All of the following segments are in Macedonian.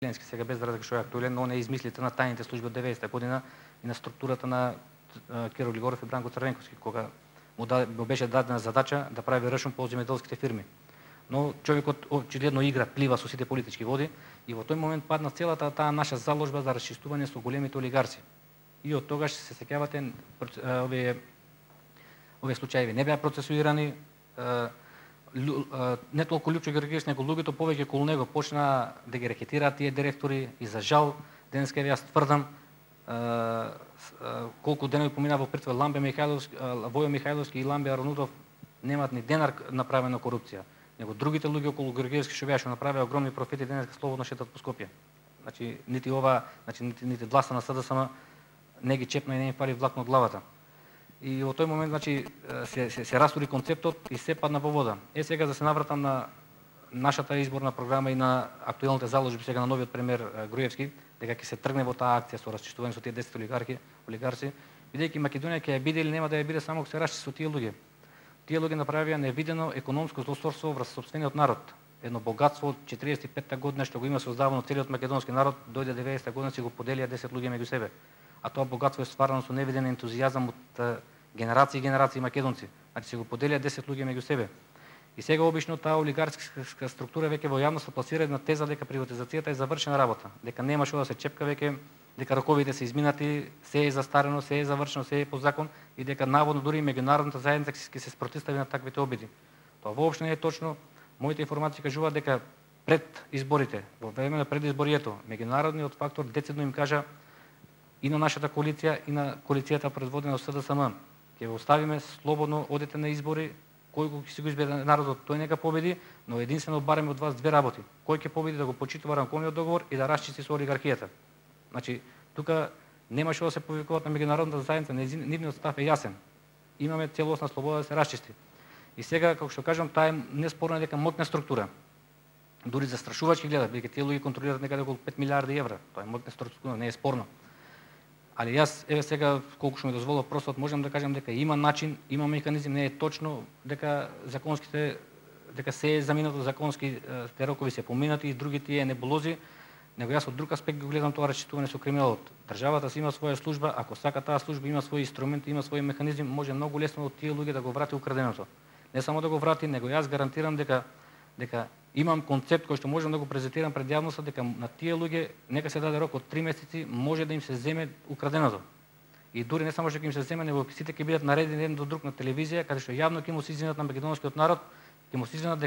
Ленски, сега без да разлика што е актуелен, но не измислите на тајните служби од 90-та година и на структурата на Киро Глигоров и Бранко Црвенковски, кога му беше дадена задача да прави рашун по земјоделските фирми. Но човекот очигледно игра, плива со сите политички води и во тој момент падна целата таа наша заложба за расчистување со големите олигарси. И од тогаш се сеќавате овие случаи не беа процесуирани, не толку Лјупчо Георгиевски, него луѓето повеќе околу него почнаа да ги рекетираат тие директори и за жал денеска јас тврдам колку денови помина во притвор Војо Михајловски и Ламбе Аронудов немаат ни денар направена корупција, него другите луѓе околу Георгиевски што беа што направија огромни профити денеска слободно шетат по Скопје. Значи нити ова, нити власта на СДСМ не ги чепна и не им фали влакно од главата. И во тој момент значи се растури концептот и се падна во вода. Сега да се навратам на нашата изборна програма и на актуелните заложби сега на новиот премиер Груевски, дека ќе се тргне во таа акција со расчистување со тие 10 олигарси, бидејќи Македонија ќе ја биде или нема да ја биде само ако се расчисти со тие луѓе. Тие луѓе направија невидено економско злосторство врз сопствениот народ. Едно богатство од 45-та година што го има создавано целиот македонски народ, дојде 90-та година си го поделија 10 луѓе меѓу себе. А тоа богатство е стварано со невиден ентузијазам од генерации и генерации македонци. Значи се го поделија 10 луѓе меѓу себе. И сега обично таа олигарска структура веќе во јавност пласира една теза дека приватизацијата е завршена работа, дека нема што да се чепка веќе, дека роковите се изминати, се е застарено, се е завршено, се е по закон и дека наводно дури и меѓународната заедница ќе се спротивстави на таквите обиди. Тоа воопшто не е точно. Моите информации кажуваат дека пред изборите, во време на предизборието, меѓународниот фактор децидно им кажа и на нашата коалиција и на коалицијата предводена од СДСМ, ќе го оставиме слободно, одете на избори, кој ќе си го избере народот, тој нека победи, но единствено бараме од вас две работи. Кој ќе победи да го почитува ранковниот договор и да расчисти со олигархијата. Значи, тука нема што да се повикуваат на меѓународната заедница, нивниот став е јасен. Имаме целосна слобода да се расчисти. И сега, како што кажам, таа е неспорна дека моќна структура. Дури застрашувачки гледат, бидејќи тие луѓе контролираат некаде околу 5 милиарди евра. Тоа е моќна структура, не е спорно. Али јас сега колку што ми дозволува простот можам да кажам дека има начин, има механизм, не е точно дека дека се е заминато законски рокови се поминати и други тие небулози, него јас од друг аспект го гледам тоа расчистување со криминалот. Државата си има своја служба, ако сака таа служба има своји инструменти, има свој механизм, може многу лесно од тие луѓе да го врати украденото. Не само да го врати, него јас гарантирам дека имам концепт кој што можам да го презентирам пред јавноста, дека на тие луѓе нека се даде рок од 3 месеци, може да им се земе украденото. И дури не само што ќе им се земе, него сите ќе бидат наредени еден до друг на телевизија, каде што јавно ќе му се извинат на македонскиот народ, ќе му се извинат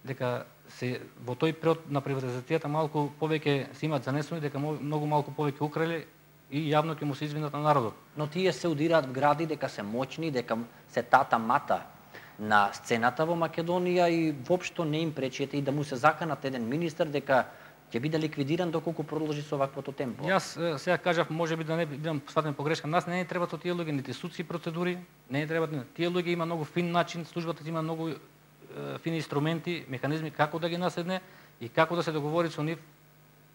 дека се во тој период на приватизацијата малку повеќе се имаат занесени, дека многу малку повеќе украли и јавно ќе му се извинат на народот. Но тие се удираат в гради дека се моќни, дека се тата мата на сцената во Македонија и воопшто не им пречете и да му се заканат еден министер дека ќе биде ликвидиран доколку продолжи со ваквото темпо. Јас сега кажав, можеби да не бидам сватен погрешка, нас не требаат од тие луѓе нити судски процедури, не требаат. Тие луѓе има многу фин начин, службата има многу фини инструменти, механизми како да ги наседне и како да се договори со нив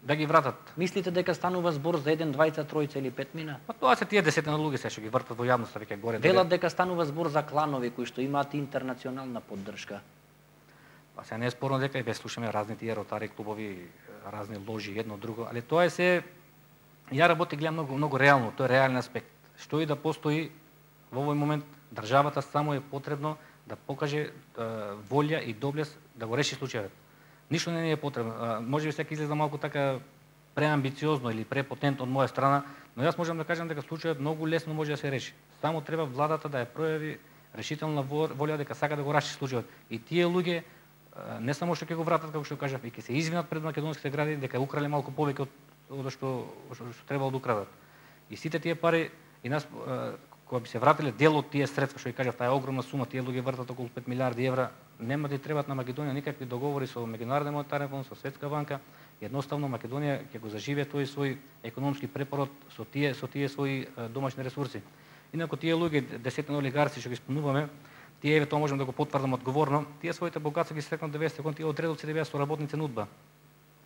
да ги вратат. Мислите дека станува збор за 1, 2, 3 или 5 мина? Па тоа се тие десетина луѓе се што ги вртат во јавноста веќе горе. Велат дека станува збор за кланови кои што имаат интернационална поддршка. Па се не е спорно дека и слушаме разни тие ротари клубови, разни ложи едно друго, али тоа е се ја работи гледам многу реално, тоа е реален аспект. Што и да постои во овој момент државата само е потребно да покаже волја и доблест да го реши случајот. Ништо не е потребно. Можеби сега изгледа малку така преамбициозно или препотентно од моја страна, но јас можам да кажам дека случајот многу лесно може да се реши. Само треба владата да ја пројави решителна волја дека сака да го расчисти случајот. И тие луѓе не само што ќе го вратат, како што кажав, и ќе се извинат пред македонските граѓани дека украле малку повеќе од што требало да украдат. И сите тие пари и нас кога би се вратиле дел од тие средства, што ја кажав, таа е огромна сума, тие луѓе вртат околу 5 милиарди евра, нема да требаат на Македонија никакви договори со Меѓународен монетарен фонд, со Светска банка. Едноставно Македонија ќе го заживее тој свој економски препород со тие своји домашни ресурси. Инаку тие луѓе, десетина олигарси што ги спомнуваме, тие тоа можам да го потврдам одговорно, тие своите богатства ги стекнат 90 години, тие од редовци беа со работници на УДБА,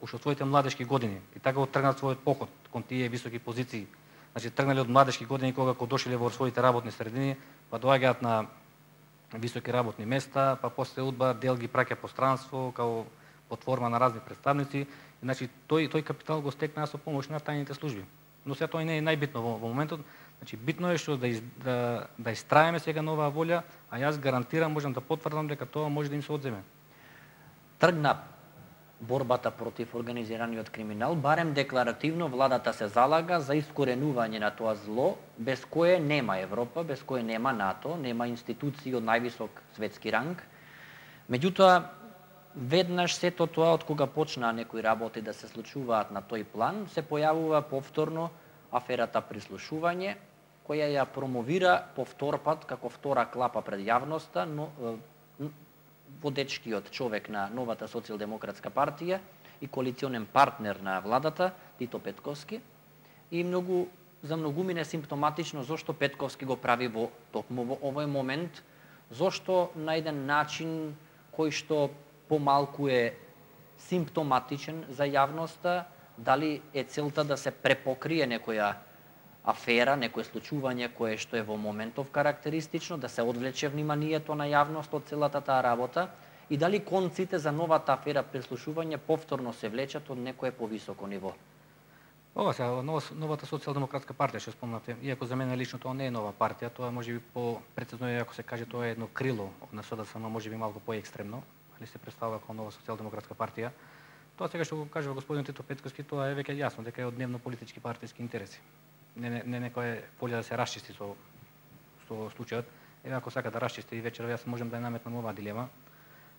уште од своите младешки години, и така го тргнат својот поход кон тие високи позиции. Значи тргнале од младешки години кога дошле во своите работни средини, па доаѓаат на високи работни места, па после УДБА дел ги праќа по странство, као под форма на разни представници. Значи тој капитал го стекна со помош на тајните служби. Но сега тоа не е најбитно во моментот. Значи битно е што да истраеме сега на оваа волја, а јас гарантирам, можам да потврдам дека тоа може да им се одземе. Тргна борбата против организираниот криминал, барем декларативно владата се залага за искоренување на тоа зло, без кое нема Европа, без кое нема НАТО, нема институции од највисок светски ранг. Меѓутоа, веднаш сето тоа од кога почнаа некои работи да се случуваат на тој план, се појавува повторно аферата прислушување, која ја промовира повтор пат како втора клапа пред јавноста, но водечкиот човек на новата социјалдемократска партија и коалиционен партнер на владата, Тито Петковски, и за многумина симптоматично зошто Петковски го прави токму во овој момент, зошто на еден начин кој што помалку е симптоматичен за јавноста, дали е целта да се препокрие некоја афера, некое случување кое што е во моментов карактеристично, да се одвлече вниманието на јавност од целата таа работа, и дали конците за новата афера прислушување повторно се влечат од некое повисоко ниво. Ова сега, новата социјалдемократска партија, што спомнате, иако за мене лично тоа не е нова партија, тоа може би по-прецизно е ако се каже тоа е едно крило на СДСМ, може би малку поекстремно, али се представува како нова социјалдемократска партија. Тоа сега што го кажува господин Тито Петковски, тоа е веќе јасно дека е од дневно политички партиски интереси. Не некоја волја да се расчисти со случајот. Еве ако сака да расчисти и вечерва, јас можам да ја наметнам оваа дилема,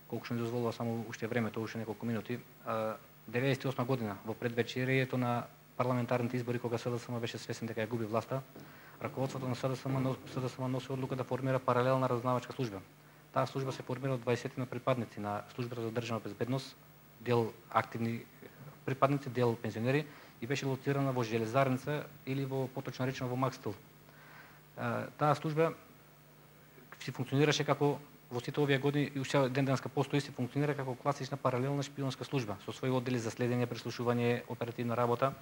колку што ми дозволува само уште времето, уште неколку минути. 98 година во предвечерието на парламентарните избори, кога СДСМ беше свесен дека ја губи власта, раководството на СДСМ носи одлука да формира паралелна разузнавачка служба. Таа служба се формира од 20 на припадници на службата за државна безбедност, дел активни припадници, дел пензионери, и беше лоцирана во Железарница или поточно речено во Макстил. Таа служба си функционираше како во сите овие години и уште ден денеска постои, се функционира како класична паралелна шпионска служба со своји оддели за следење, прислушување, оперативна работа.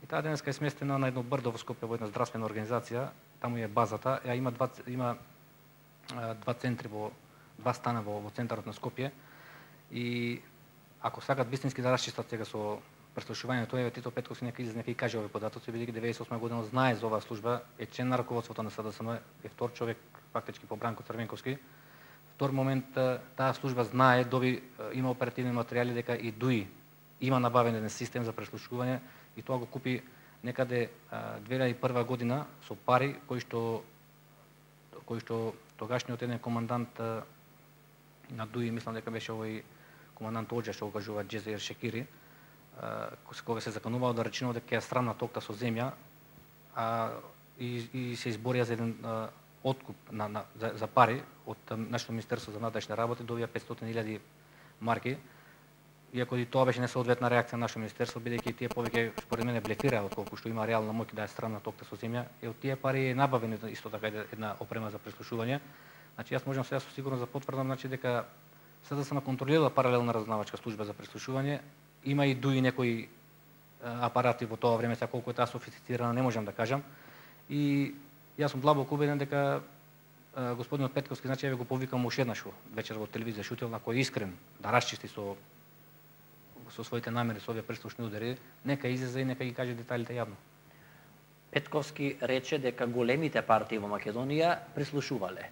И таа денеска е сместена на едно брдо во Скопје, во една здравствена организација, таму е базата, има два центри два стана во центарот на Скопје, и ако сакат вистински да расчистат сега со прислушувањето, еве Тито Петковски нека излезе и каже овие податоци, бидејќи 98 година знае за оваа служба, е член на раководството на СДСМ, е втор човек фактички по Бранко Црвенковски. Втор момент, таа служба знае, има оперативни материјали дека и ДУИ има набавен еден систем за прислушување и тоа го купи некаде 2001 година со пари кои што тогашниот еден командант на ДУИ, мислам дека беше овој командант Оџа, што го кажува Джезер Шекири, кога се заканувало да речено дека ја срамна токта со земја, и се изборија за еден откуп за пари од нашето Министерство за внатрешни работи, добија 500.000 марки, иако и тоа беше несоодветна реакција на нашето Министерство, бидејќи тие повеќе според мене блефира отколку што има реална моќ да ја срамна токта со земја, и од тие пари е набавена исто така една опрема за прислушување. Значи јас можам сега со сигурност да потврдам дека СДСМ контролира паралелна разузнавачка служба за прислушување, има и ДУИ некои апарати во тоа време, сега колку е таа софистицирана не можам да кажам, и јас сум длабоко убеден дека господинот Петковски, значи еве го повикам уште еднаш вечер во телевизија Шутел, ако е искрен да расчисти со своите намери со овие прислушни удари, нека излезе и нека ги каже деталите јавно. Петковски рече дека големите партии во Македонија прислушувале.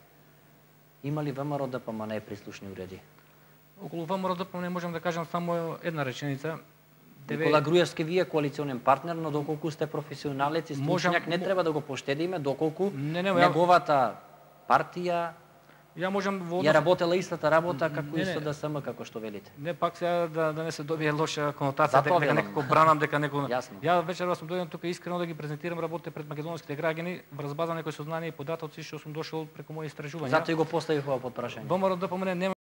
Има ли ВМРО ДПМН прислушни уреди? Околу ВМРО ДПМН можам да кажам само една реченица. Никола Груевски, вие коалиционен партнер, но доколку сте професионалец и стручњак, не треба да го поштедиме, доколку неговата партија ја работела истата работа како и СДСМ, како што велите. Не, пак сега да не се добие лоша конотација, дека некако бранам, дека некој... Ја вечерва сум дојден тука искрено да ги презентирам работите пред македонските граѓани, врз база некои сознанија и податоци што сум дошол преку мои истражувања. Затоа и го поставив ова под прашање. ВМРО ДПМН